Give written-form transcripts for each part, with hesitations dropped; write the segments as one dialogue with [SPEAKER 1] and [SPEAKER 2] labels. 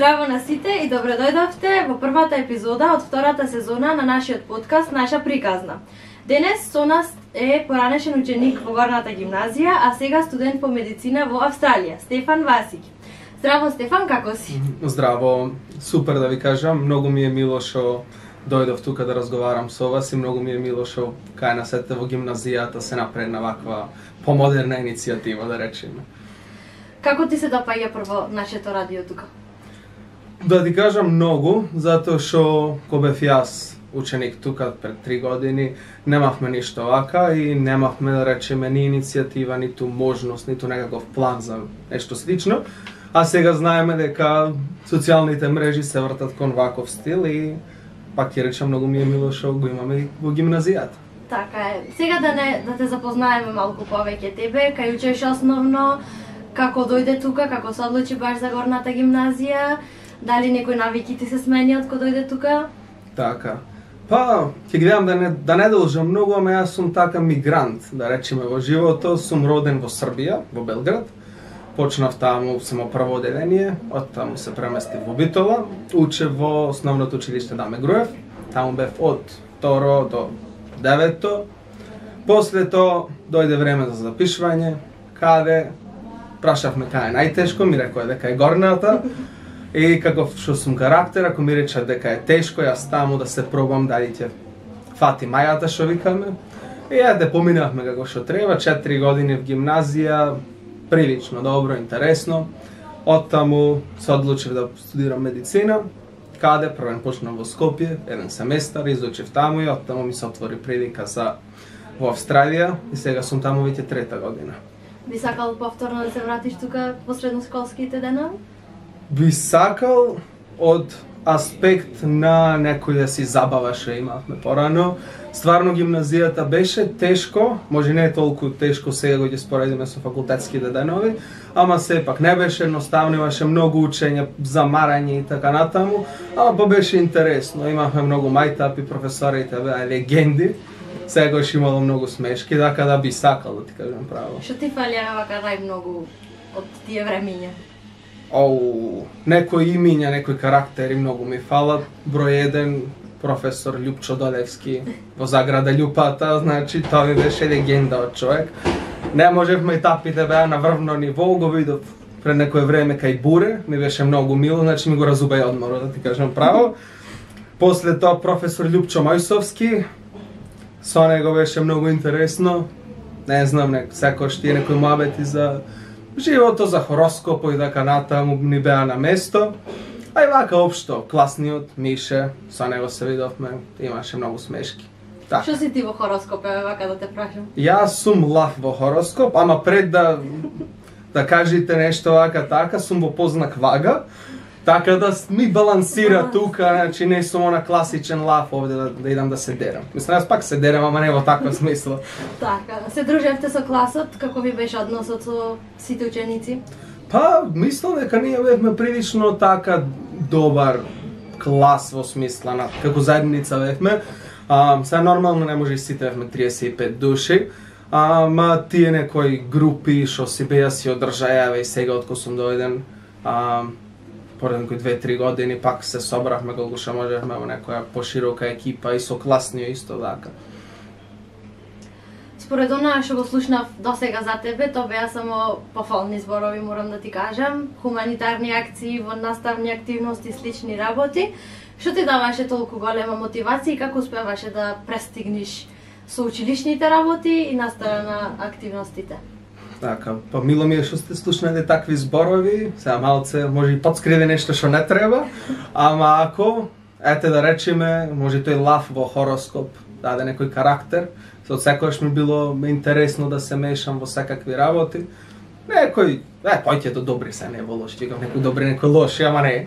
[SPEAKER 1] Здраво на сите и добро дојдовте во првата епизода од втората сезона на нашиот подкаст Наша приказна. Денес со нас е поранешен ученик во Горната гимназија, а сега студент по медицина во Австралија, Стефан Васиќ. Здраво Стефан, како си?
[SPEAKER 2] Здраво, супер да ви кажам, многу ми е мило што дојдов тука да разговарам со вас и многу ми е мило што кај нас ете во гимназијата се напредна ваква помодерна иницијатива, да речеме.
[SPEAKER 1] Како ти се допаѓа прво нашето радио тука?
[SPEAKER 2] Да ти кажам многу, затоа што кога бев јас ученик тука пред 3 години, немавме ништо вака и немавме, да речеме, ни иницијатива, ниту можност, ниту некаков план за нешто слично. А сега знаеме дека социјалните мрежи се вртат кон ваков стил и пак ќе речам многу ми е мило што го имаме и во гимназијата.
[SPEAKER 1] Така е. Сега да те запознаеме малку повеќе тебе, кај учиш основно, како дојде тука, како се одлучи баш за Горната гимназија, дали некои навики ти се смени од кога дојде тука?
[SPEAKER 2] Така. Па, ќе гледам да не должам многу, ама јас сум така мигрант, да речеме, во животот. Сум роден во Србија, во Белград. Почнав таму само прво одделение, од таму се преместив во Битола, учев во основното училиште Даме Груев. Таму бев од 2 до 9. После тоа дојде време за запишување, каде прашавме кај е најтешко, ми рекоа дека е Горната. И каков што сум карактер, ако ми речат дека е тешко, јас таму да се пробам дали ќе фати мајата што викаме. И ете, поминавме како што треба, 4 години в гимназија, прилично добро, интересно. Оттаму се одлучив да студирам медицина, каде првен почнав во Скопје, 1 семестар, изучив таму и оттаму ми се отвори прилика за во Австралија и сега сум таму веќе 3-та година.
[SPEAKER 1] Би сакал повторно да се вратиш тука во средношколските денови?
[SPEAKER 2] Би сакал од аспект на некој да си забава што имавме порано. Стварно гимназијата беше тешко, може не е толку тешко сега го ќе споредиме со факултетските денови, ама сепак не беше едноставно, имаше многу учење, замарање и така натаму, ама па беше интересно. Имавме многу мајтапи, професорите беа легенди. Сегаш имало многу смешки, така да би сакал да ти кажам право.
[SPEAKER 1] Што ти фалија вака најмногу од тие времиња?
[SPEAKER 2] Некои имиња, некои карактери многу ми фалат. Број 1, професор Љупчо Долевски во Заграда Љупата, значи тоа ми беше легенда од човек. Не можевме и тапите беа на врвно ниво, го видов пред некое време кај Буре, ми беше многу мило, значи ми го разубај одморот, да ти кажам право. После тоа професор Љупчо Мојсовски, со него беше многу интересно. Не знам, секој тие некои муабети за живото, за хороскопо и така натаму ни беа на место. А и вака општо, класниот Мише, со него се видовме, имаше многу смешки. Така.
[SPEAKER 1] Што си ти во хороскоп, вака да те прашам?
[SPEAKER 2] Јас сум лав во хороскоп, ама пред да кажете нешто вака така, сум во познак вага, така да ми балансира тука, значи не сум она класичен лав овде да идам да се дерам. Мислам, јас пак се дерам, ама не во таква смисла.
[SPEAKER 1] Така, се дружевте со класот, како ви беше односот со сите ученици?
[SPEAKER 2] Па, мислам дека ние бевме прилично така добар клас во смисла на како заедница бевме. Сега нормално не може и сите бевме 35 души, ама тие некои групи што си беа си одржајаве и сега откако сум дојден, поред некои 2-3 години пак се собравме колку што можевме во некоја поширока екипа и со класниот исто така.
[SPEAKER 1] Според она што го слушнав досега за тебе, тоа беа само пофални зборови, морам да ти кажам, хуманитарни акции, во наставни активности, слични работи. Што ти даваше толку голема мотивација и како успеваше да престигнеш со училишните работи и настава на активностите?
[SPEAKER 2] Така, па мило ми е што сте слушнале такви зборови, сега малце може и подскриви нешто што не треба, ама ако, ете да речеме, може тој лав во хороскоп даде некој карактер, со секојаш ми било интересно да се мешам во секакви работи. Некој, појќето добри се, не во лоши, некој добри, некој лоши, ама не.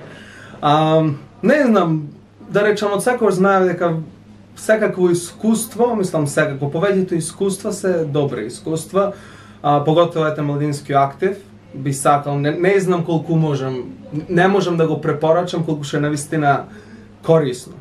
[SPEAKER 2] Не знам, да речам, од секојаш знаев дека секакво искуство, мислам секако, повеќето искуства се добри искуства, поготово ете младински актив, би сакал, не знам колку можам, не можам да го препорачам колку што е навистина корисно.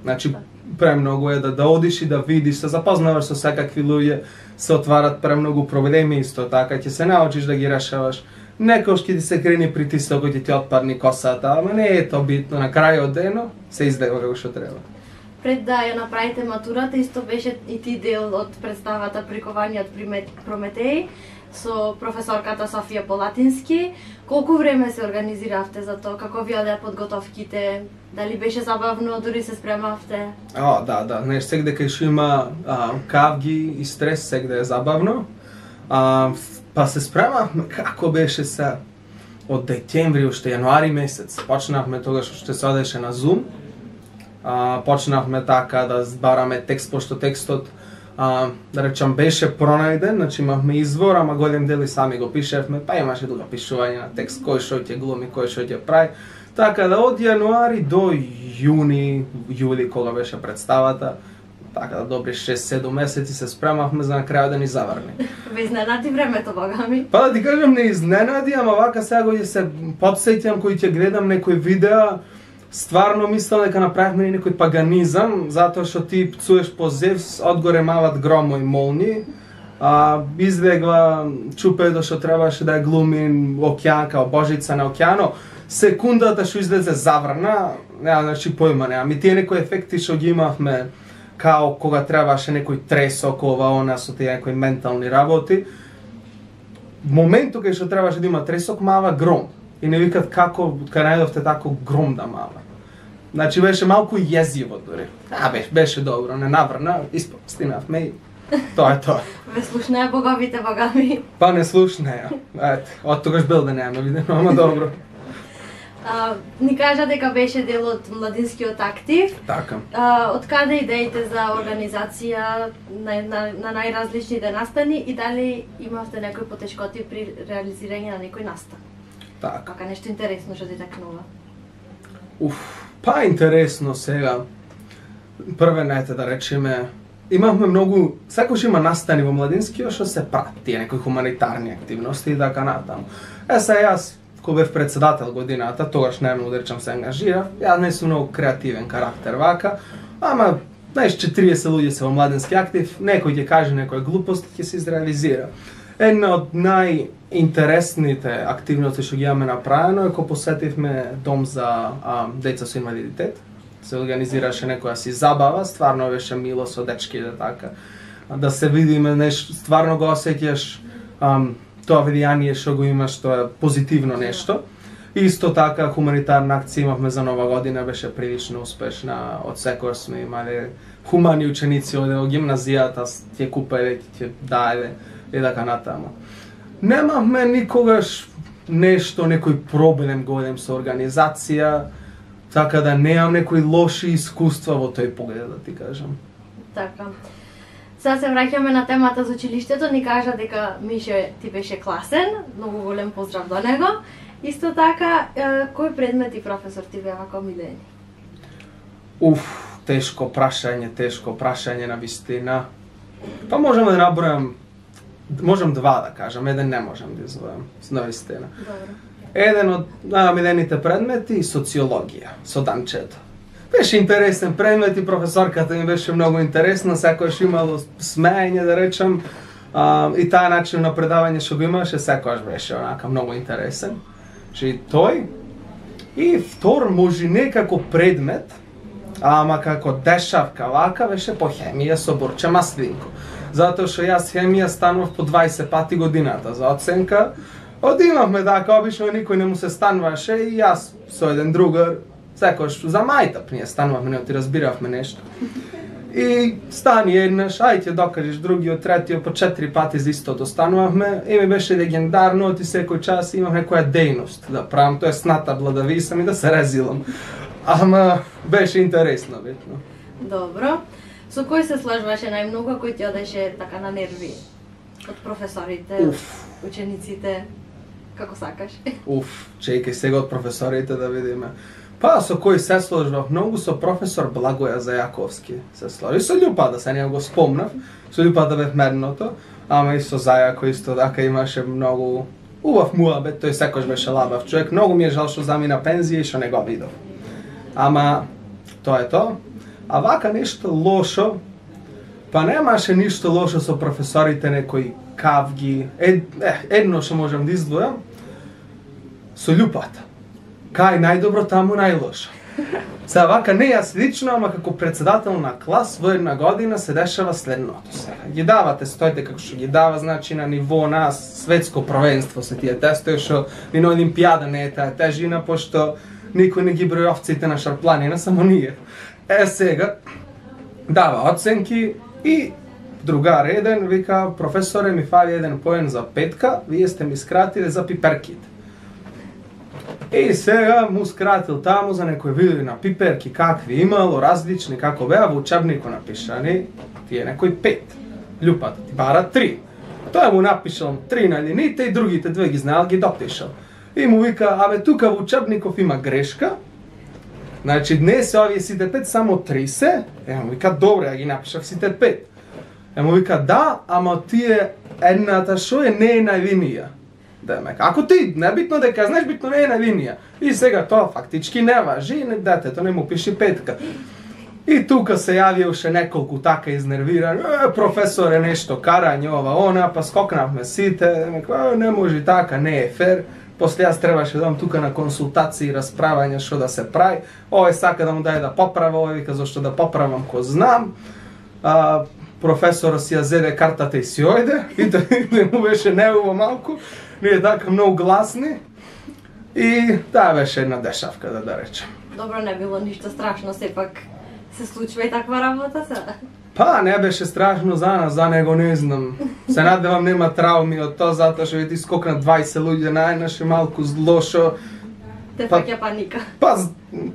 [SPEAKER 2] Значи, премногу е да одиш и да видиш, се запознаваш со секакви луѓе, се отварат премногу проблеми исто така, ќе се научиш да ги решаваш. некош ќе ти се крени притисокот и ти отпадни косата, ама не е тоа битно, на крајот дено се издева како што треба.
[SPEAKER 1] Пред да ја направите матурата, исто беше и ти дел од представата Приковани од Прометеј со професорката Софија Полатински. Колку време се организиравте за тоа? Како ви одеа подготовките? Дали беше забавно, дури се спремавте?
[SPEAKER 2] Да, сегде кај што има кавги и стрес, сегде е забавно. Па се спремавме, како беше се од декември, уште јануари месец. Почнавме тогаш што се одеше на Zoom. Почнавме така да збараме текст, пошто текстот да речам беше пронајден, значи имавме извор, ама голем дел и сами го пишевме, па имаше друга пишување на текст, кој што ќе глуми, кој што ќе прави. Така да од јануари до јули кога беше представата, така да добри 6-7 месеци се спремавме за на крајот да ни заврни.
[SPEAKER 1] Ве изненади времето, богами?
[SPEAKER 2] Па да ти кажам, не изненади, ама вака сега го се потсеќам кој ќе гледам некои видеа, стварно мислам дека направивме некој паганизам, затоа што ти пцуеш по Зевс, одгоре мават громо и молни, избегла чупедо што требаше да ја глуми океан, као божица на океано, секундата што излезе заврна, значи појма нема. Ми тие некои ефекти што ги имавме, као кога требаше некој тресок, ова, она, со тие некои ментални работи, моментот кај што требаше да има тресок, мава гром. И не викат како, кај најдовте тако гром да мава. Значи беше малку језиво дури. Беше добро, не наврна, испостинавме и тоа е тоа.
[SPEAKER 1] Ве слушнеа боговите, богами?
[SPEAKER 2] Па не слушнеа. Од тогаш бил да немаме видено, ама добро.
[SPEAKER 1] Ни кажа дека беше дел од младинскиот актив.
[SPEAKER 2] Така.
[SPEAKER 1] Од каде идеите за организација на најразличните настани и дали имавте некои потешкоти при реализирање на некој настан?
[SPEAKER 2] Така.
[SPEAKER 1] Така нешто интересно што ти такнува?
[SPEAKER 2] Па интересно сега. Првенете да речеме, имавме многу, секој има настани во младинскиот што се прати, тие некои хуманитарни активности и така натаму. Сега јас кога бев председател годината, тогаш најмногу да речам се ангажирав, јас не сум многу креативен карактер вака, ама знаеш 40 луѓе се во младински актив, некој ќе каже некоја глупост ќе се изреализира. Една од најинтересните активности што ги имаме направено е кога посетивме дом за деца со инвалидитет. Се организираше некоја си забава, стварно беше мило со дечките така. Да се видиме, стварно го осеќаш тоа влијание што го имаш, тоа е позитивно нешто. Исто така хуманитарна акција имавме за Нова година, беше прилично успешна. Од секој сме имале хумани ученици од гимназијата, ќе купеле, ќе даеле и така натаму. Немавме никогаш нешто, некој проблем голем со организација, така да немам некои лоши искуства во тој поглед, да ти кажам.
[SPEAKER 1] Така. Сега се враќаме на темата за училиштето, ни кажа дека Мише ти беше класен, многу голем поздрав до него. Исто така, кој предмет и професор ти беа вака омилени?
[SPEAKER 2] Тешко прашање на вистина. Па можам да набројам, можам два да кажам, еден не можам да извојам, на вистина.
[SPEAKER 1] Добро.
[SPEAKER 2] Еден од најомилените предмети социологија, со Данчето. Беше интересен предмет и професорката ми беше многу интересна, секојаш имало смеење да речам, и таа начин на предавање што го имаше секојаш беше онака многу интересен. Че тој и втор може не како предмет, ама како дешавка вака беше по хемија со Борче Маслинко. Затоа што јас хемија станував по 20 пати годината за оценка. Одимавме така, обично никој не му се стануваше и јас со еден другар, секојаш за мајтап ние станувавме, не ти разбиравме нешто. И стани еднаш, ајде докажеш другиот, третиот, по 4 пати за истото станувавме и ми беше легендарно, оти секој час имав некоја дејност да правам, тоа е снатабла да висам и да се резилам. Ама беше интересно, битно.
[SPEAKER 1] Добро. Со кој се сложваше најмногу, кој ти одеше така на нерви? Од професорите, учениците, како сакаш?
[SPEAKER 2] Чекај сега од професорите да видиме. Па со кој се сложвав многу, со професор Благоја Зајаковски се сложи. Со Љупада се не го спомнав, со Љупада бев мерното, ама и со Зајако исто така имаше многу убав муабет, тој секојаш беше лабав човек. Многу ми е жал што замина пензија и што не го видов. Ама тоа е тоа. А вака нешто лошо, па немаше ништо лошо со професорите, некои кавги. Едно што можам да издвојам, со љупата. Кај најдобро, таму најлошо. Сега вака не јас лично, ама како председател на клас во една година се дешава следното. Сега ги давате стоите како што ги дава, значи на ниво на светско првенство се тие тестови, што ни на олимпијада не е таа тежина, пошто никој не ги брои овците на Шарпланина, само ние. Сега дава оценки и другар еден вика, професоре, ми фали еден поен за петка, вие сте ми скратиле за пиперките. И сега му скратил таму за некои видео на пиперки, какви имало, различни, како беа, во учебнико напишани, тие некои 5. Љупата ти бара 3. Тој му напишал 3 на линиите и другите 2 ги знаел, ги допишал. И му вика, абе тука во учебников има грешка, значи днес овие сите 5 само 3 се, му вика, добре, ја ги напишав сите 5. Му вика, да, ама тие едната шо е не е на линија. Демек, ако ти небитно дека знаеш, битно не е на линија. И сега тоа фактички не важи, детето не му пиши 5. И тука се јавија уште неколку така изнервирани, професоре нешто карање ова она, па скокнавме сите, демек, не може така, не е фер. После јас требаше да тука на консултации и расправање што да се прави. Овој сака да му даде да поправа, овој вика зашто да поправам ко знам. Професорот си ја зеде картата и си ојде, и да му беше неуво малку. Ние така многу гласни и таа беше една дешавка, да речем.
[SPEAKER 1] Добро, не било ништо страшно, сепак се случува и таква работа сега.
[SPEAKER 2] Па, не беше страшно за нас, за него не знам. Се надевам нема трауми од тоа, затоа што ти скокнат 20 луѓе наеднаш и малку злошо.
[SPEAKER 1] Те фаќа паника.
[SPEAKER 2] Па,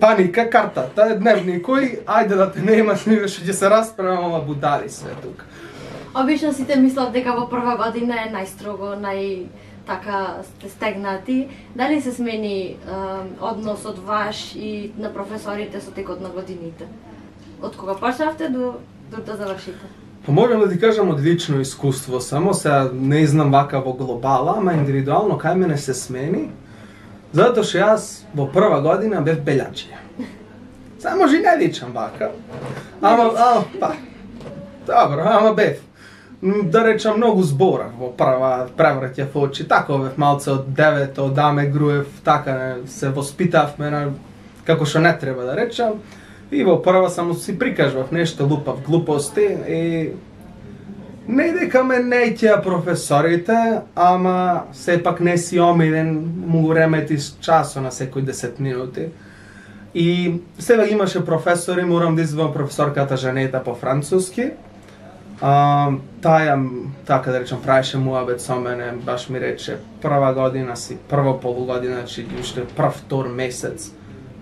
[SPEAKER 2] паника, картата, дневникој, ајде да те нема, што ќе се расправам, будали све тука.
[SPEAKER 1] Обично сите мислат дека во прва година е најстрого, така сте стегнати. Дали се смени односот ваш и на професорите со текот на годините? Од кога почнавте до да завршите?
[SPEAKER 2] Па можам да ти кажам од лично искуство, само сега не знам вака во глобала, ама индивидуално кај мене се смени, затоа што јас во прва година бев белјачија. Сега може и не личам вака, ама па, добро, ама бев. Да речам, многу зборав во прва превраќа во очи, така бев малце од 9, од даме груев, така се воспитавме како што не треба да речам. И во прва само си прикажував нешто, лупав глупости и не дека ме неќеа професорите, ама сепак не си омилен, му ремети часо на секој 10 минути. И сега имаше професори, морам да извам професорката Жанета по француски. Таја, така да речем, правеше муабет со мене, баш ми рече, прва година си, прво полугодина, значи уште прв, втор месец,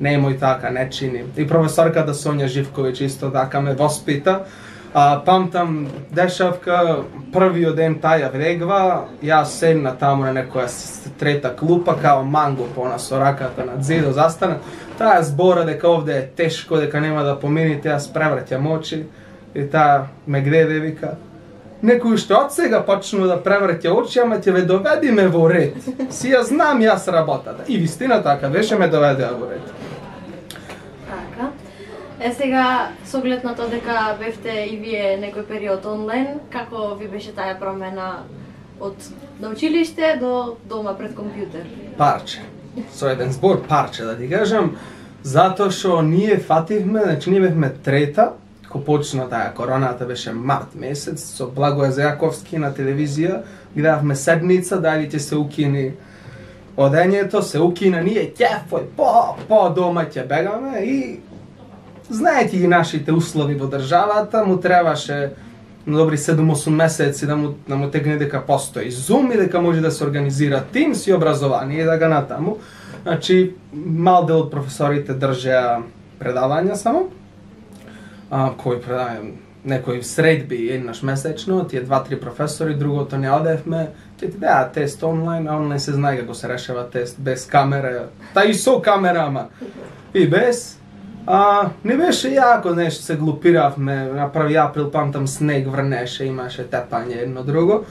[SPEAKER 2] немој така, не чини. И професорката Сонја Живковиќ исто така ме воспита. Памтам дешавка, првиот ден таја влегва, јас седна таму на некоја трета клупа, као манго пона со раката на зидо застана. Таја збора дека овде е тешко, дека нема да помините, јас превраќам очи. И таа ме гледа и вика, некој уште од сега почнува да превраќа очи, ама ќе ве доведиме во ред. Си ја знам јас работата. И вистина така беше, ме доведеа во ред.
[SPEAKER 1] Така. Сега, со оглед на тоа дека бевте и вие некој период онлайн, како ви беше таа промена од на училиште до дома пред компјутер?
[SPEAKER 2] Парче. Со еден збор парче, да ти кажам, затоа што ние фативме, значи ние бевме трета, ко почна таа короната, беше март месец, со Благоја Зајаковски на телевизија, гледавме седница, дали ќе се укини одењето, се укина, ние ќефој, по дома ќе бегаме и знаете ги нашите услови во државата, му требаше на добри 7-8 месеци да му тегне дека постои Zoom и дека може да се организира Teams и образование и да ga натаму. Значи, мал дел од професорите држеа предавања само, кој предавања, некој средби еднаш месечно, тие 2-3 професори, другото не одевме, ќе ти даа тест онлайн, а онлайн се знае како се решава тест без камера, та и со камера, ама и без. Не беше јако, нешто се глупиравме, на 1 април памтам снег врнеше, имаше тепање едно друго.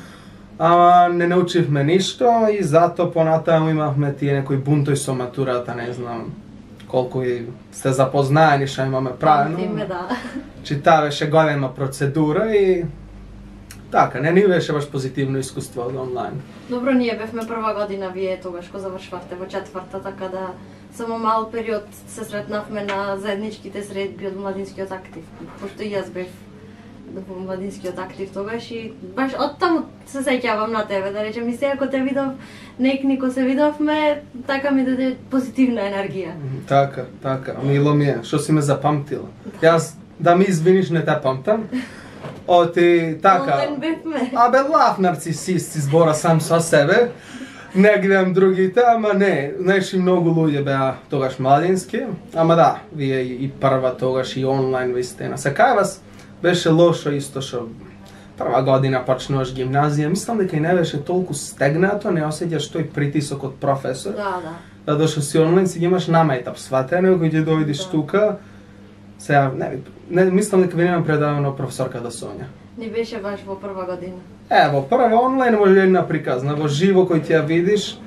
[SPEAKER 2] Ама не научивме ништо и зато понатаму имавме тие некои бунтои со матурата, не знам колку и сте запознаени што имаме правено.
[SPEAKER 1] Памтиме, да.
[SPEAKER 2] Чи таа беше голема процедура и така, не ни беше баш позитивно искуство од онлайн.
[SPEAKER 1] Добро, ние бевме прва година, вие тогаш кога завршвавте во четврта, така да само мал период се сретнавме на заедничките средби од младинскиот актив. Пошто и јас бев во младинскиот актив тогаш и баш оттаму се сеќавам на тебе, да речем, и сега кога те видов, некнико се видовме, така ми даде позитивна енергија.
[SPEAKER 2] Така, мило ми е, што си ме запамтила. Јас, да ми извиниш, не те памтам. Оти, така,
[SPEAKER 1] Онлайн бевме.
[SPEAKER 2] абе лав нарцисист избора сам со себе. Не гледам другите, ама не, знаеш и многу луѓе беа тогаш младински, ама да, вие и прва тогаш и онлайн вистина. Се кај вас беше лошо исто што прва година почнуваш гимназија, мислам дека и не беше толку стегнато, не осеќаш тој притисок од професор.
[SPEAKER 1] Да.
[SPEAKER 2] Да дошол си онлайн, си ги имаш намајтап сватено, кој ќе дојдеш тука. Сега, не мислам дека ви немам предавано професорката Сонја.
[SPEAKER 1] Не беше баш во прва година.
[SPEAKER 2] Во прва онлайн може една приказна, во живо кој ти ја видиш,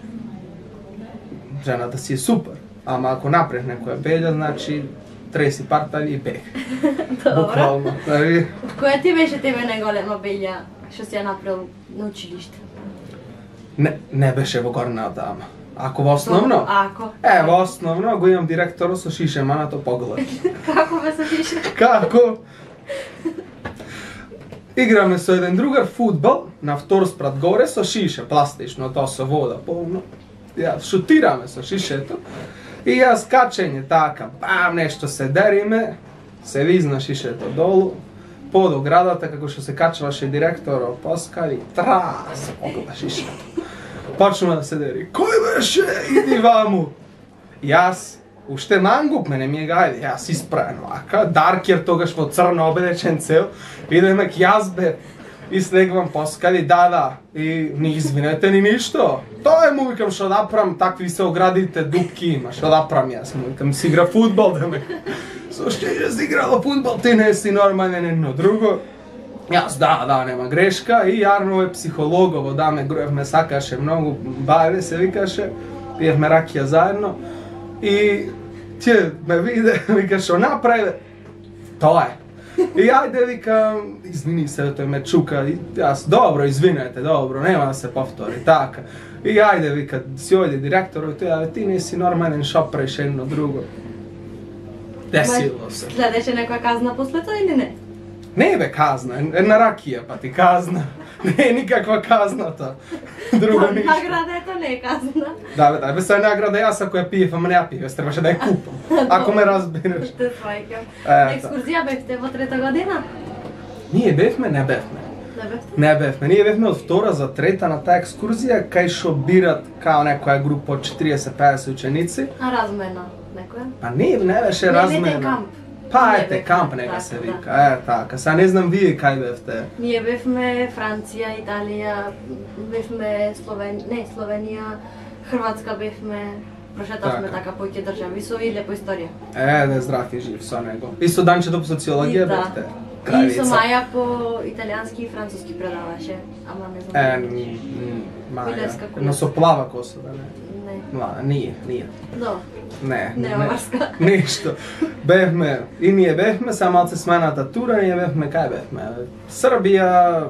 [SPEAKER 2] жената си е супер. Ама ако напред некоја белја, значи треси партали и бег. Буквално.
[SPEAKER 1] Која ти беше тебе најголема белја што си ја направил на училиште?
[SPEAKER 2] Не беше во горната дама. Ако во основно?
[SPEAKER 1] Ако.
[SPEAKER 2] Во основно го имам директорот со шишеманото поглед.
[SPEAKER 1] Како бе со шише?
[SPEAKER 2] Како? Играме со еден другар фудбал на втор спрат горе со шише, пластично, тоа со вода полно. Ја шутираме со шишето и јас качење така, бам, нешто се дериме, се визна шишето долу, под оградата како што се качваше директорот поскали, трас, погледа шишето. Почнува да се дери. Кој беше? Иди ваму. Јас уште мангуп, мене ми е гајде, јас испраен вака, Даркер тогаш во црно обедечен цел, идеме к јас бе, и слегвам поскали, да, и не извинете ни ништо. Тоа му викам што да прам, такви се оградите, дупки има, што да прам јас му викам, си игра фудбал, да ме. Со што си играла фудбал, ти не си нормален едно друго. Јас да, нема грешка и јарно е психологово, да ме груевме, сакаше многу, баве се викаше, пиевме ракија заедно и тие ме виде, вика што направи, тоа е. И ајде викам, извини се, тој ме чука, и јас, добро, извинете, добро, нема да се повтори, така. И ајде вика, си ојде директорот, тој, ти не си нормален, шо правиш едно друго. Десило се.
[SPEAKER 1] Следеше некоја казна после тоа или не?
[SPEAKER 2] Не бе казна, една ракија па ти казна. Не е никаква казната. Друго ништо.
[SPEAKER 1] Награда ето не е казна.
[SPEAKER 2] Да, бе се награда јас ако ја пиев, ама не ја пиев, требаше да ја купам. Ако ме разбираш.
[SPEAKER 1] Те сваќам. На екскурзија бевте во трета година?
[SPEAKER 2] Ние бевме, не бевме. Не бевме. Ние бевме од втора за трета на таа екскурзија, кај што бират као некоја група од 40-50 ученици.
[SPEAKER 1] А размена некоја?
[SPEAKER 2] Па не беше размена.
[SPEAKER 1] Не, камп.
[SPEAKER 2] Па ете, камп нека се вика, така. Сега не знам вие кај бевте.
[SPEAKER 1] Ние бевме Франција, Италија, бевме Словенија, Хрватска бевме, прошетавме така поќе држави со и лепо историја.
[SPEAKER 2] Да здрав и жив со него. И со Данчето по социологија бевте.
[SPEAKER 1] И со Маја по италијански и француски предаваше, ама не знам.
[SPEAKER 2] Маја, но со плава коса, да не?
[SPEAKER 1] Не.
[SPEAKER 2] Ние.
[SPEAKER 1] До.
[SPEAKER 2] Не.
[SPEAKER 1] Марска.
[SPEAKER 2] Ништо. Бевме, и ние бевме, само малце смената тура, ние бевме, кај бевме? Србија,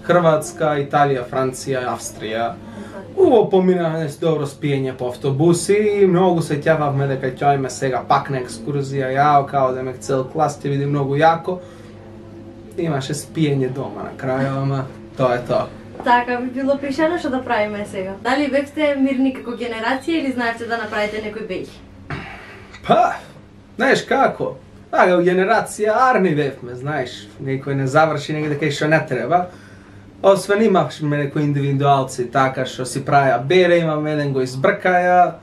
[SPEAKER 2] Хрватска, Италија, Франција, Австрија. Уво поминавме с добро спиење по автобуси и многу се ќававме дека ќе сега пак на екскурзија, јао, као да ме цел клас ќе види многу јако. Имаше спиење дома на крај, ама тоа е тоа.
[SPEAKER 1] Така би било пришено што да правиме сега. Дали бевте мирни како генерација или знаевте да направите некој беј?
[SPEAKER 2] Па, знаеш како? Така, генерација арни бевме, знаеш, некој не заврши негде кај што не треба. Освен имавме некои индивидуалци така што си правеа бере, имаме еден го избркаја.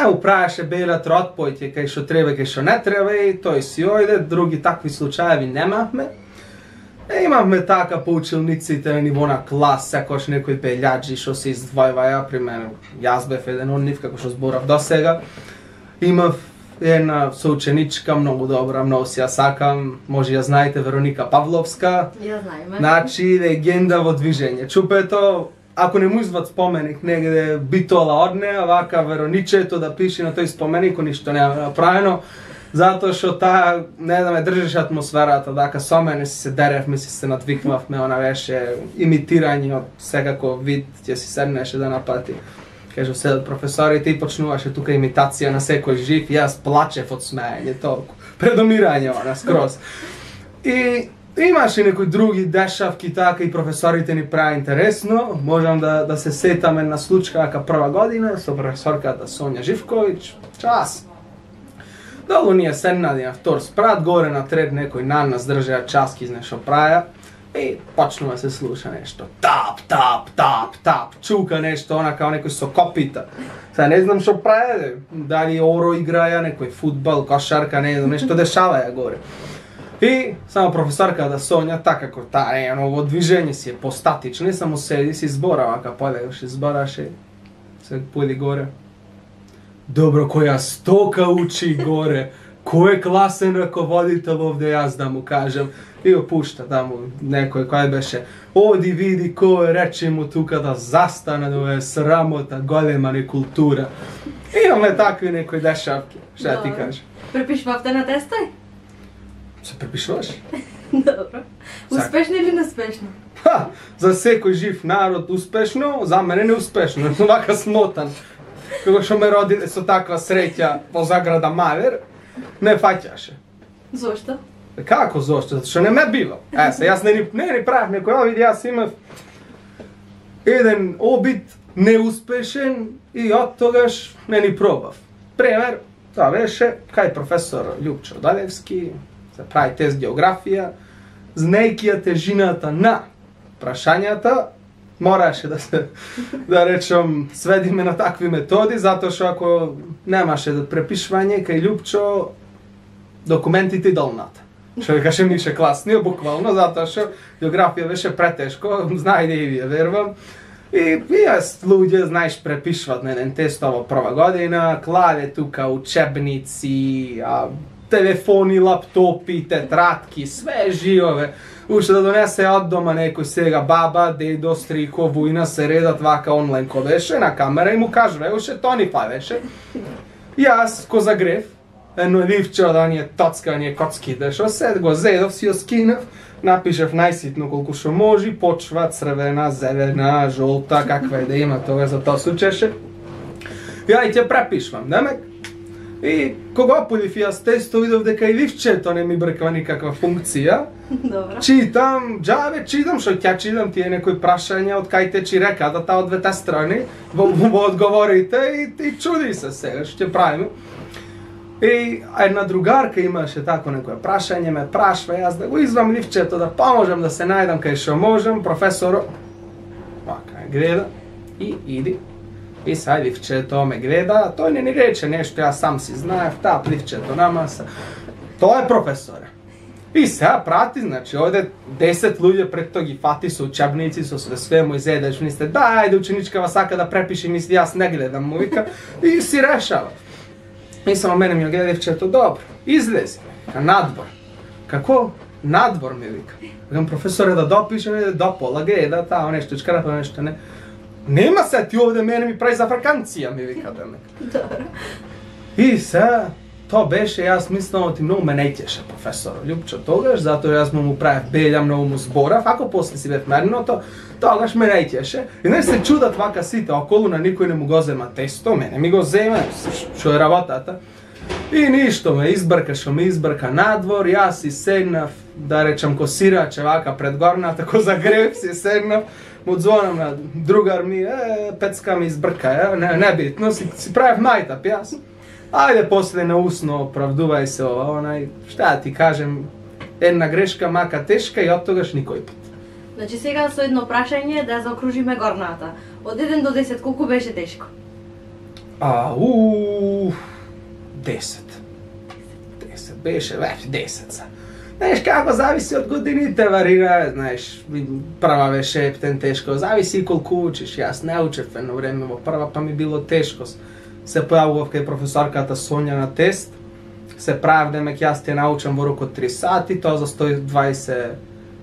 [SPEAKER 2] Управеше белат ротпојќе кај што треба, кај што не треба и тој си ојде, други такви случаеви немавме. Имавме така по училниците на ниво на клас, секојаш некои пејаџи што се издвојваја, пример, јас бев еден од нив, како што зборав до сега. Имав една соученичка, многу добра, многу си ја сакам, може ја знаете, Вероника Павловска.
[SPEAKER 1] Ја знаеме.
[SPEAKER 2] Значи, легенда во движење. Чупето, ако не му извад споменик негде битола од неа, вака Вероничето да пише на тој споменик, ништо нема направено. Затоа што таа, не да ме држеше атмосферата, дека со мене се деревме, се надвикнавме, она беше имитирање од секаков вид, ќе си седнеше да напати. Кажу, седат професорите и почнуваше тука имитација на секој жив, и јас плачев од смеење толку. Предомирање она скроз. И имаше некои други дешавки така и професорите ни прави интересно. Можам да се сетам една случка дека прва година со професорката Сонја Живковиќ, час. Долу ние седнали на втор спрат, горе на трет некој на нас држеа часки из нешто праја и почнува се слуша нешто. Тап, тап, тап, тап, чука нешто, она као некој со копита. Сега не знам што праја, дали оро играја, некој фудбал, кошарка, не знам, нешто дешаваја горе. И само професорката Сонја, така како таа во движење си е постатична, само седи си зборава, ка полегаше, збораше, се појди горе. Добро, која стока учи горе, кој е класен раководител овде, јас да му кажам. И го пушта таму некој кој беше, оди види кој рече му тука да застане, да е срамота, голема некултура. Имаме такви некои дешавки, што ти кажам.
[SPEAKER 1] Препишвавте на тестој?
[SPEAKER 2] Се препишуваш?
[SPEAKER 1] Добро. Успешно или неуспешно?
[SPEAKER 2] За секој жив народ успешно, за мене неуспешно, вака смотан. Кога што ме роди со таква среќа во заграда Мавер, не фаќаше.
[SPEAKER 1] Зошто?
[SPEAKER 2] Како зошто? Затоа што не ме бива. Јас не ни правев некој обид, јас имав еден обид неуспешен и од тогаш не ни пробав. Пример, тоа беше кај професор Љупчо Далевски, се прави тест географија, знаејќи ја тежината на прашањата, мораше да се, да речам, сведиме на такви методи, затоа што ако немаше препишвање кај Љупчо, документите долната. Што ви кажем нише класниот, буквално, затоа што географија беше претешко, знаеде и вие, верувам. И јас луѓе, знаеш, препишват на еден тест во прва година, клаве тука учебници, телефони, лаптопи, тетратки, све живове. Уште да донесе од дома некој сега баба, дедо, стрико, вујна, се редат вака онлайн ко беше на камера и му кажува, уште тони фајвеше. Јас ко загрев, едно ливче од оние тоцка, оние коцките, шо сед го зедов, си ја скинав, напишев најситно колку што може, почва црвена, зелена, жолта, каква е да има тога за тоа случеше. Ја и ќе препишвам, демек. И кога подив јас тесто, видов дека и ливчето не ми брква никаква функција.
[SPEAKER 1] Добро.
[SPEAKER 2] Читам, џаве читам, што ќе читам тие некои прашања од кај течи реката, од двете страни, во одговорите и чуди се сега, што ќе правиме. И една другарка имаше тако некој прашање, ме прашва, јас да го извам ливчето, да поможам да се најдам кај што можам, професор, вака гледа и иди. И сај ливчето ме гледа, тој не ни рече нешто, јас сам си знаев, таа ливчето на маса. Тоа е професоре. И сега прати, значи, овде 10 луѓе пред тоа ги фати со учебници, со све му изедеш, мислите, да, ајде ученичкава сака да препише, мисли, јас не гледам, му вика, и си решава. И само мене ми гледа ливчето, добро, излези, надвор. Како? Надвор ми вика. Викам, професоре, да допише, не до пола, гледа, таа нешто, чкарапа нешто, не. Нема се, ти овде мене ми прави за ваканција, ми вика демек.
[SPEAKER 1] Добро.
[SPEAKER 2] И се, тоа беше, јас мислам, оти многу ме неќеше професор Љупчо тогаш, затоа јас му правев белја, многу му зборав, ако после си бев мерното, тогаш ме неќеше. И не се чудат вака сите, околу на никој не му го зема тесто, мене ми го зема, што е работата. И ништо ме избрка надвор, јас си седнав, да речам, ко сираче вака пред горната, ко загрев си седнав, му звонам на другар ми, пецка ми избрка, не битно, си правев мајтап јас. Ајде после наусно оправдувај се ова, шта да ти кажем, една грешка мака тешка и од тогаш никој пат.
[SPEAKER 1] Значи сега со едно прашање да заокружиме горната. Од 1 до 10 колку беше тешко?
[SPEAKER 2] 10. 10 беше, 10 са. Знаеш како, зависи од годините, варира, знаеш, прва беше ептен тешко, зависи колку учиш, јас не учев едно време во прва, па ми било тешко. Се појавував кај професорката Сонја на тест, се правев демек јас те научам во рок од 3 сати, тоа за 120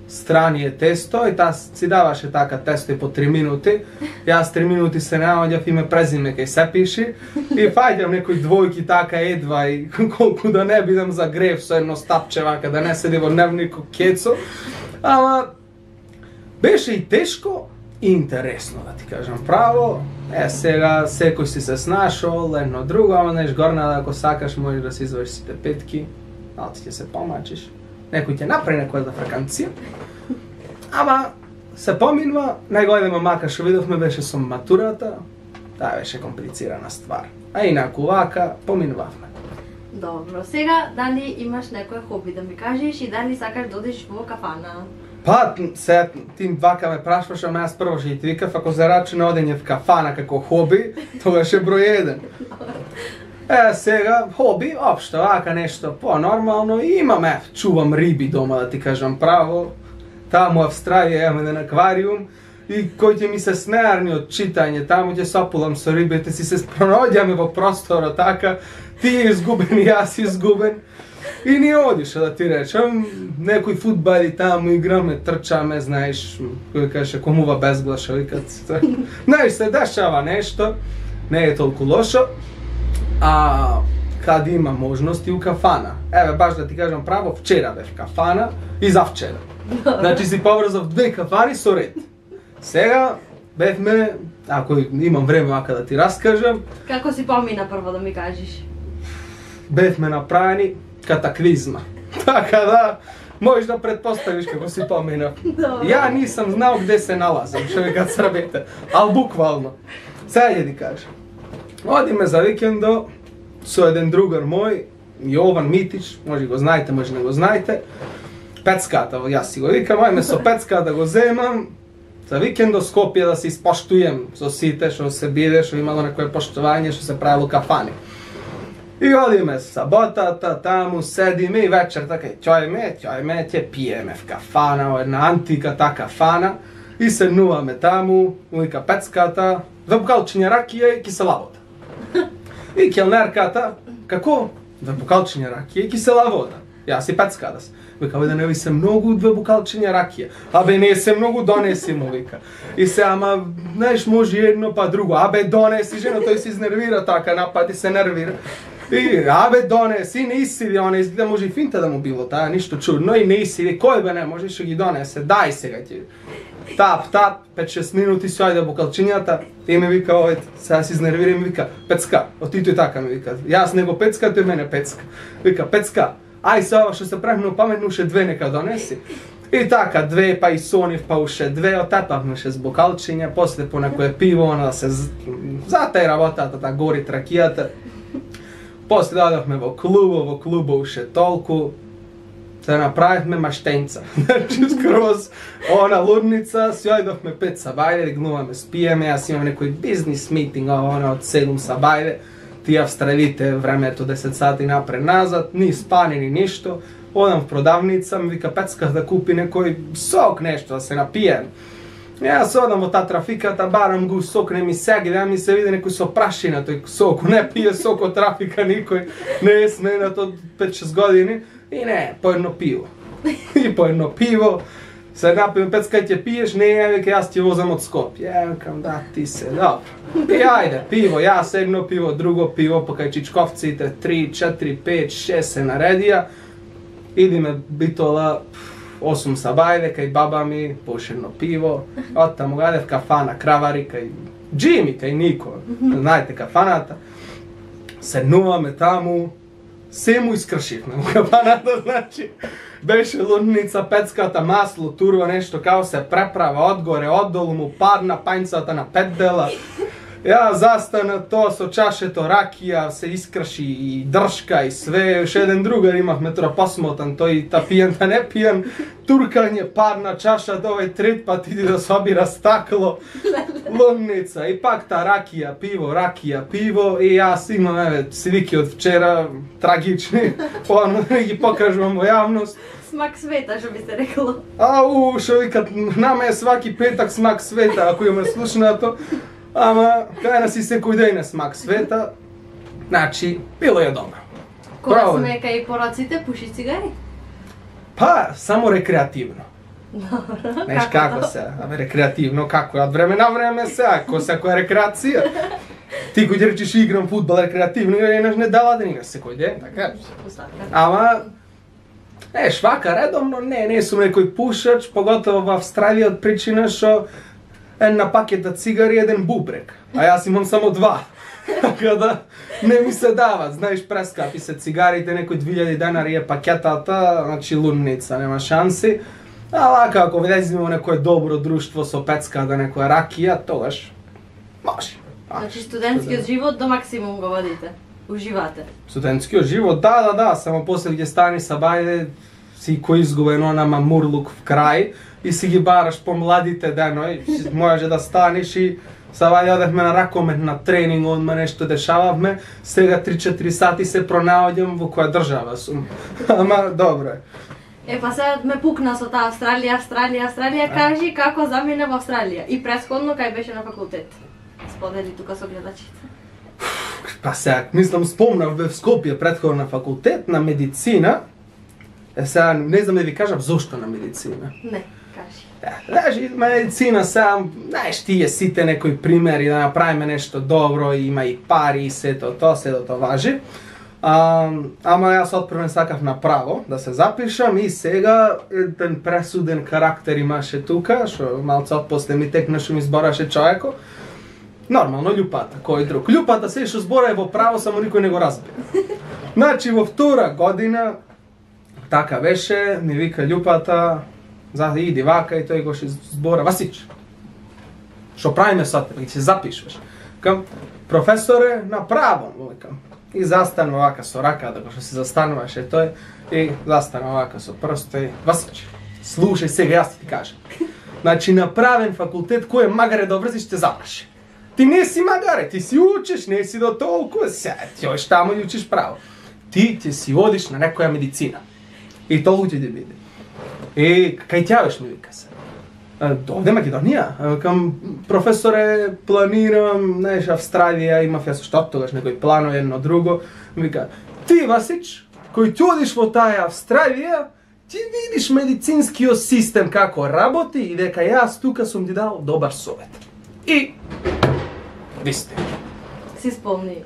[SPEAKER 2] страни е тесто и таа си даваше така тесто и по 3 минути. Јас 3 минути се наоѓав име презиме кај се пиши и фаќам некои двојки така едва и колку да не бидам за грев со едно стапче вака, да не седи во дневнико кецо. Ама беше и тешко и интересно, да ти кажам право. Сега секој си се снашол, едно друго, ама знаеш горна ако сакаш можеш да си извадиш сите петки, а ти ќе се помачиш. Некој ќе направи некоја фраканција. Ама се поминува, најголема мака што видовме беше со матурата. Таа беше комплицирана ствар. А инаку вака поминувавме.
[SPEAKER 1] Добро, сега дали имаш некој хоби да ми кажеш и дали сакаш да одиш во кафана?
[SPEAKER 2] Па, се ти вака ме прашваш, ама јас прво ќе ти викав, ако се рачуна одење в кафана како хоби, тогаш е број 1. Сега, хоби, општо, вака нешто по-нормално, имаме, чувам риби дома, да ти кажам право. Таму Австралија имаме еден аквариум и кој ќе ми се смеарни од читање, таму ќе сопулам со рибите, си се пронаоѓаме во простора така, ти е изгубен и јас изгубен. И ни одише, да ти речем, некои фудбали таму играме, трчаме, знаеш, кој каже, комува безглаша, викат. Знаеш, се дешава нешто, не е толку лошо, а каде има можности у кафана. Еве, баш да ти кажам право, вчера бев кафана и завчера. Значи си поврзав 2 кафани со ред. Сега бевме, ако имам време вака да ти раскажам.
[SPEAKER 1] Како си помина прво да ми кажеш?
[SPEAKER 2] Бевме направени катаклизма. Така да, можеш да предпоставиш како си поминав. Ја нисам знал где се налазам, што викат србите, ал буквално. Сега ќе ти кажам. Одиме за викендо со еден другар мој, Јован Митич, може го знаете, може не го знаете. Пецката, јас си го викам, ајме со пецка да го земам. За викендо Скопје да се испоштуjem со сите што се биде, што имало некое поштување, што се правило кафани. И одиме саботата, таму седиме и вечер така ќојме, ќе пиеме в кафана, една антика та кафана и седнуваме таму, вика пецката, 2 бокалчиња ракија и кисела вода. И келнерката, како? 2 бокалчиња ракија и кисела вода. Јас и пецката се. Вика, да не ви се многу 2 бокалчиња ракија. Абе, не се многу, донеси му, вика. И се, ама, знаеш, може едно па друго. Абе, донеси, жена, тој се изнервира така, напати се нервира. И, абе, донеси, не исиди, она изгледа, може и финта да му било, таа, ништо чудно, и не исиди, кој бе не, може што ги донесе, дај сега ти. Тап, 5-6 минути си ајде бокалчињата, и ми вика, овој, сега се изнервира и ми вика, Пецка, оти тој така ми вика, јас него Пецка, тој мене Пецка. Вика, Пецка, ај се ова што се правим паметно, уше 2 нека донеси. И така, 2, па и сонив, па уше 2, отепавме ше с бокалчиња, после по некое пиво, она да се затај работата, та гори тракијата. После додавме во клубо уше толку, се направивме маштенца. Значи, скроз она лудница, си ојдовме 5 сабајде, гнуваме, спиеме, јас имам некој бизнис митинг, она од 7 сабајде, тие австралите времето 10 сати напред назад, ни спани ни ништо, одам в продавница, ми вика Пецка да купи некој сок нешто, да се напием. Јас одам во таа трафиката, барам го сок, не ми сеги, да ми се види некој со прашина тој сок, не пие сок од трафика никој, не е сменат од 5-6 години, и не, по едно пиво. И по едно пиво, се напием, Пецка ќе пиеш, не е, вика, јас ќе возам од Скопје. Ја викам, да, ти се, добро. И ајде, пиво, јас едно пиво, друго пиво, па кај чичковците, 3, 4, 5, 6 се наредија. Идиме битола 8 сабајде, кај баба ми, пошедно пиво. Оттаму гадев кафана, кравари, кај Джими, кај Нико. Знаете кафаната. Седнуваме таму, се му искршивме во кафаната, значи. Беше лудница, Пецката, масло, турва, нешто, као се преправа, одгоре, оддолу му падна пањцата на 5 дела. Ја застана тоа со чашето ракија, се искрши и дршка и све. Ше еден другар имавме тоа посмотан, тој та пијан, та не пијан. Туркање, падна чашата, овој трет пат иди да собира стакло. Лудница, и пак та ракија, пиво, и јас имам, еве, слики од вчера, трагични, поано да ги покажувам во јавност.
[SPEAKER 1] Смак света, што би се рекло.
[SPEAKER 2] Ау, шо викат, нама е сваки петак смак света, ако има слушнато. Ама, кај нас и секој ден е смак света, значи, било е добро.
[SPEAKER 1] Кога сме кај пороците, пуши цигари?
[SPEAKER 2] Па, само рекреативно. Знаеш како се, рекреативно како од време на време се, која рекреација. Ти кој речеш играм фудбал рекреативно, не дава да играш секој ден, така? Ама вака редовно не сум некој пушач, поготово во Австралија од причина што една пакета цигари, еден бубрек, а јас имам само 2. Така да не ми се дават, знаеш, прескапи се цигарите, некој 2000 денари е пакетата, значи лунница, нема шанси. А вака, ако влеземе во некое добро друштво со пецка да некоја ракија, тогаш може.
[SPEAKER 1] Значи студентскиот живот до максимум го водите, уживате.
[SPEAKER 2] Студентскиот живот, да, само после ќе стани сабајде, си кој изгубен она мамурлук в крај и си ги бараш по младите денови, може да станеш и сабајде одевме на ракомет на тренинг, одма нешто дешававме, сега 3-4 сати се пронаоѓам во која држава сум. Ама добро е.
[SPEAKER 1] Па сега ме пукна со таа Австралија, кажи како замина во Австралија и претходно кај беше на факултет. Сподели тука со гледачите.
[SPEAKER 2] Па сега, мислам, спомнав бев Скопје претходно на факултет на медицина. Сега не знам да ви кажам зошто на медицина.
[SPEAKER 1] Не, кажи.
[SPEAKER 2] Знаеш, медицина сега, знаеш, тие сите некои примери да направиме нешто добро, има и пари и сето тоа важи. Ама јас отпрвен сакав направо да се запишам и сега еден пресуден карактер имаше тука, што малце отпосле ми текнаше ми збораше човеко. Нормално, љупата, кој друг. Љупата се што збора е во право, само никој не го разбира. Значи, во втора година, така беше, ми вика љупата, иди вака и тој го ше збора, Васич, што правиме сад, ќе се запишваш. Кам, професоре, направо, викам. И застанува вака со рака, да го што се застануваше тој, и застанува вака со прсто и Васич, слушај сега, јас ти кажам. Значи, направен факултет, кој е магаре да врзиш, те запраши. Ти не си магаре, ти си учиш, не си до толку, ти оиш таму и учиш право. Ти ќе си одиш на некоја медицина. И толку ќе ти биде. И кај тјавеш ми вика се. Овде Македонија, кам професоре планирам, знаеш, Австралија, имав јас што тогаш некој планови едно друго. Вика, ти Васич, кој ти одиш во таа Австралија, ти видиш медицинскиот систем како работи и дека јас тука сум ти дал добар совет. И висте.
[SPEAKER 1] Се исполни.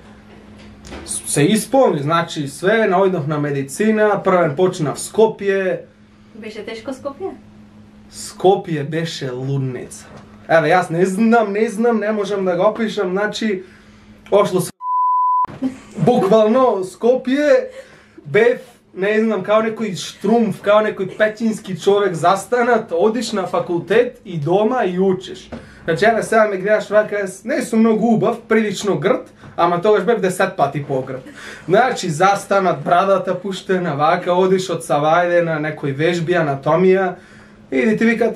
[SPEAKER 2] Се исполни, значи све, наоѓнав на медицина, првен почнав Скопје.
[SPEAKER 1] Беше тешко Скопје?
[SPEAKER 2] Скопје беше лудница. Еве, јас не знам, не можам да го опишам, значи, ошло се буквално Скопје, бев, не знам, као некој штрумф, као некој печински човек застанат, одиш на факултет и дома и учиш. Значи, еве, сега ме гледаш вака, не сум многу убав, прилично грд, ама тогаш бев 10 пати погрд. Значи, застанат, брадата пуштена, вака, одиш од савајде на некој вежби, анатомија, и ти викат,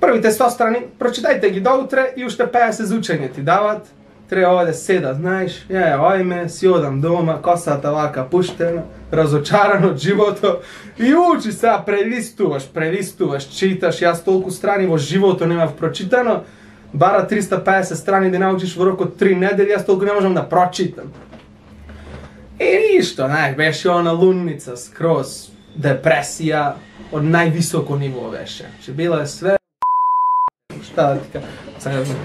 [SPEAKER 2] првите 100 страни, прочитајте ги доутре и уште 50 за учење ти дават, треба овде седат, знаеш, ојме, си одам дома, косата вака пуштена, разочаран од живото и учиш сега, прелистуваш, читаш, јас толку страни во живото немав прочитано, бара 350 страни да научиш во рок од 3 недели, јас толку не можам да прочитам. И ништо, знаеш, беше она лунница скроз, депресија, од највисоко ниво беше. Че била е све... Шта да ти кажа?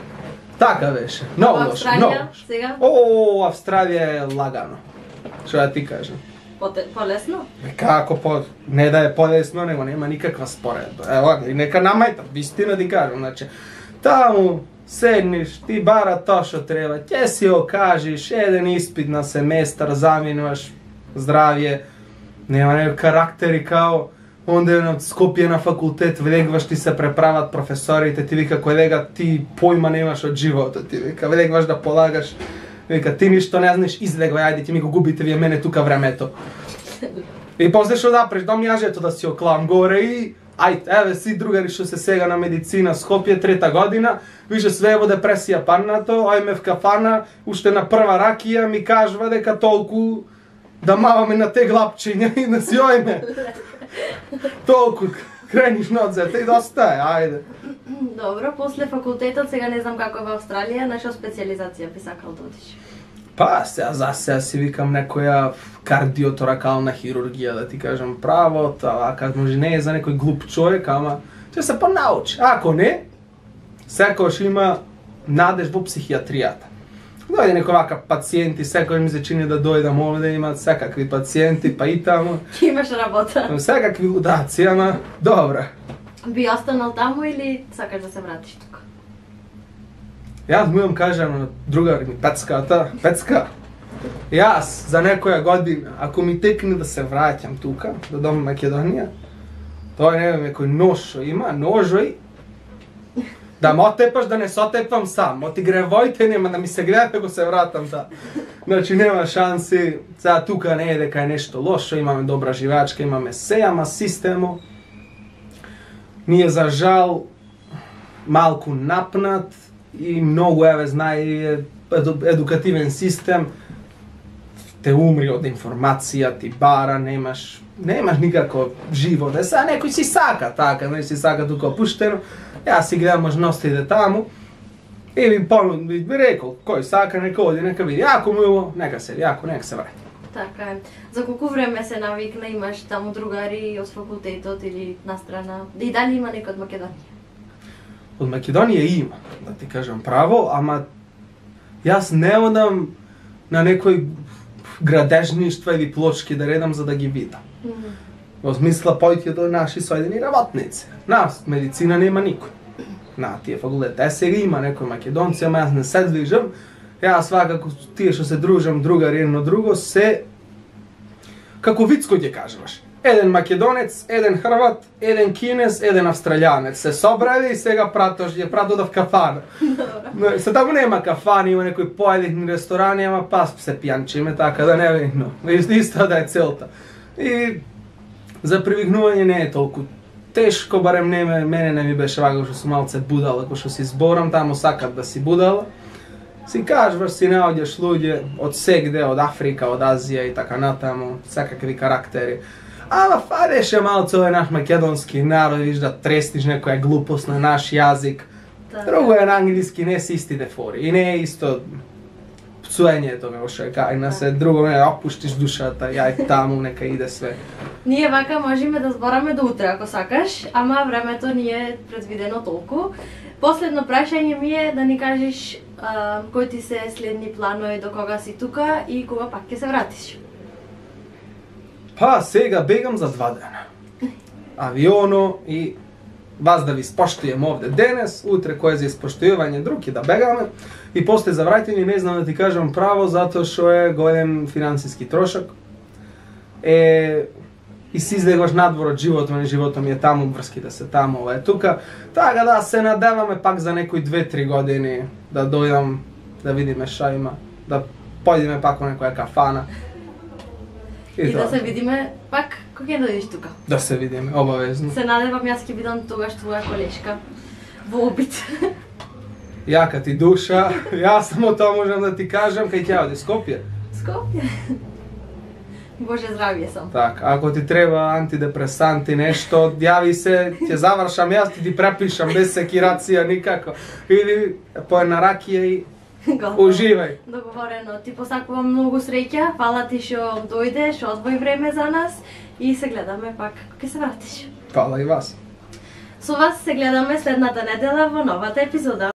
[SPEAKER 2] Така беше. Много лошо.
[SPEAKER 1] Австралија сега?
[SPEAKER 2] Австралија е лагано. Што да ти кажам?
[SPEAKER 1] Полесно?
[SPEAKER 2] Како не да е полесно, него нема никаква споредба. Ево, нека намајта, вистина ти кажам, значи. Таму седниш, ти бара тоа што треба, ќе си окажиш, еден испит на семестар, заминуваш, здравје, нема некој карактери као, онде на Скопје на факултет, влегваш, ти се преправат професорите, ти вика, колега, ти појма немаш од животот, ти вика, влегваш да полагаш, вика, ти ништо не знаеш, излегвај, ајде, ти ми го губите вие мене тука времето. И после што да преш до мјажето да си оклам горе и ајде, еве си другари што се сега на медицина Скопје, 3-та година, више све во депресија паднато, ојме в кафана, уште на прва ракија ми кажува дека толку да маваме на те глапчиња и да си ојме. Толку крениш надзете и доста е, ајде.
[SPEAKER 1] Добро, после факултетот, сега не знам како е во Австралија, на што специализација би сакал да одиш?
[SPEAKER 2] Па, сега си викам некоја кардиоторакална хирургија, да ти кажам право, вака може не е за некој глуп човек, ама ќе се понаучи. Ако не, секојаш има надеж во психијатријата. Дојде некој вака пациенти, секој ми се чини да дојдам овде, имаат секакви пациенти, па и таму.
[SPEAKER 1] Имаш работа.
[SPEAKER 2] Секакви лудаци, ама добро.
[SPEAKER 1] Би останал таму или сакаш да се вратиш тука?
[SPEAKER 2] Јас му кажам на другар ми, Пецка, јас за некоја година, ако ми текне да се враќам тука, до дом Македонија, тој не знам некој ношо има, ножој, да ме отепаш да не се отепвам сам, оти гревојте нема да ми се грева ако се вратам да. Значи нема шанси, сега тука не е дека е нешто лошо, имаме добра живеачка, имаме се, ама системо ни е за жал малку напнат и многу знае едукативен систем, те умри од информација, ти бара, немаш никако живот. Сега некој си сака така, не си сака тука опуштено. Јас си гледам можностите таму и би рекол, кој сака нека оди, нека види. Ако му иво, нека се враќа.
[SPEAKER 1] Така е. За колку време се навикна, имаш таму другари од факултетот или настрана? И дали има некој од Македонија?
[SPEAKER 2] Од Македонија има, да ти кажам право, ама јас не одам на некој градежништва или плочки да редам за да ги видам. Во смисла појте до наши соедини работници. Нас медицина нема никој. На тие факултет. Сега има некои македонци, ама јас не се движам. Јас свакако тие што се дружам другари едно друго се како вицко ќе кажуваш. Еден македонец, еден хрват, еден кинез, еден австралијанец се собрали и сега ја пратоа в кафана. Се таму нема кафани, има некои поедини ресторани, ама пас се пијанчиме, така да не видно. Исто да е целта. И за привикнување не е толку тешко, барем мене не ми беше вака што сум малце будала, ако што си зборам, таму сакат да си будала. Си кажуваш, си наоѓаш луѓе од сегде, од Африка, од Азија и така натаму, секакви карактери. Ама фадеше малце овој наш македонски народ, виж да тресниш некоја глупост на наш јазик. Друго е на англиски, не се истите фори. И не е исто пцуењето, како што кај се друго не опуштиш душата, јај таму, нека иде све.
[SPEAKER 1] Ние вака можеме да збораме до утре ако сакаш, ама времето ни е предвидено толку. Последно прашање ми е да ни кажеш кои ти се следни планови, до кога си тука и кога пак ќе се вратиш.
[SPEAKER 2] Па, сега бегам за 2 дена. Авионо и вас да ви споштуjem овде денес, утре кој е за испоштујување друг и да бегаме. И после за враќање не знам да ти кажам право, затоа што е голем финансиски трошок. И си излегуваш надвор од животот ми е таму, врските се таму, ова е тука. Така да се надеваме пак за некои 2-3 години да дојдам, да видиме шо има, да појдеме пак во некоја кафана.
[SPEAKER 1] И да се видиме пак кога ќе дојдеш тука.
[SPEAKER 2] Да се видиме, обавезно.
[SPEAKER 1] Се надевам јас ќе бидам тогаш твоја колешка во обид.
[SPEAKER 2] Јака ти душа, јас само тоа можам да ти кажам, кај ќе оди Скопје.
[SPEAKER 1] Скопје. Боже здравје сам.
[SPEAKER 2] Така, ако ти треба антидепресанти, нешто, јави се, ќе завршам јас, ти препишам без секирација никако. Или по една ракија и уживај.
[SPEAKER 1] Договорено. Ти посакувам многу среќа, фала ти што дојде, што одвои време за нас и се гледаме пак кога ќе се вратиш.
[SPEAKER 2] Фала и вас.
[SPEAKER 1] Со вас се гледаме следната недела во новата епизода.